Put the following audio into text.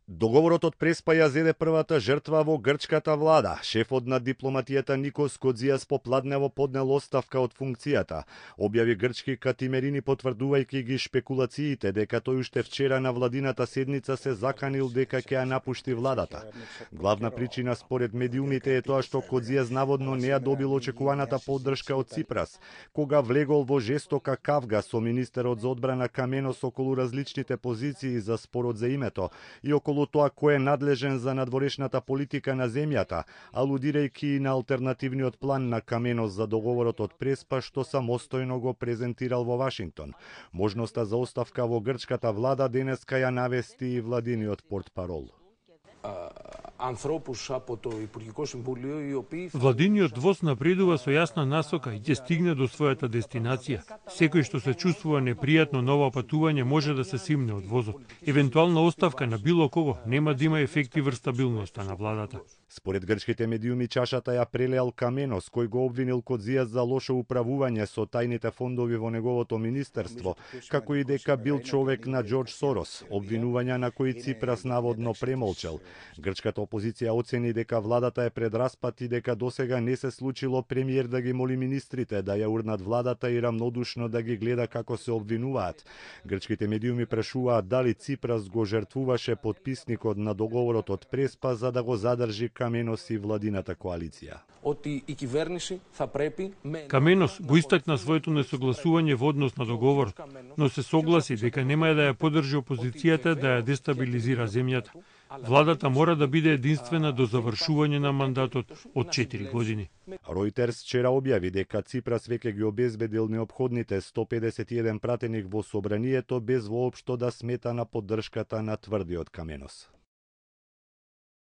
Договорот од Преспа ја зеде првата жртва во грчката влада. Шефот на дипломатијата Никос Кодзијас попладнево поднел оставка од функцијата. Објави грчки катимерини потврдувајќи ги шпекулациите дека тој уште вчера на владината седница се заканил дека ќе ја напушти владата. Главна причина според медиумите е тоа што Кодзијас наводно не ја добил очекуваната поддршка од Ципрас, кога влегол во жестока кавга со министерот за одбрана Каменос околу различните позиции за спорот за името и околу тоа кој е надлежен за надворешната политика на земјата, алудирајќи на алтернативниот план на Каменос за договорот од Преспа што самостојно го презентирал во Вашингтон. Можноста за оставка во грчката влада денеска ја навести и владиниот портпарол. Владиниот воз напредува со јасна насока и ќе стигне до својата дестинација. Секој што се чувствува непријатно на ова патување може да се симне од возот. Евентуална оставка на било кого нема да има ефекти врз стабилноста на владата. Според грчките медиуми чашата ја прелеал Каменос, кој го обвинил Кодзијас за лошо управување со тајните фондови во неговото министерство, како и дека бил човек на Џорџ Сорос, обвинувања на кои Ципрас наводно премолчал. Грчката опозиција оцени дека владата е пред распад и дека досега не се случило премиер да ги моли министрите да ја урнат владата и рамнодушно да ги гледа како се обвинуваат. Грчките медиуми прашуваат дали Ципрас го жртвуваше подписникот на договорот од Преспа за да го задржи Каменос и владината коалиција. Каменос го истакна своето несогласување во однос на договорот, но се согласи дека нема да ја поддржи опозицијата да ја дестабилизира земјата. Владата мора да биде единствена до завршување на мандатот од 4 години. Ројтерс вчера објави дека Ципрас веќе ги обезбедил неопходните 151 пратеник во собранието без воопшто да смета на поддршката на тврдиот Каменос.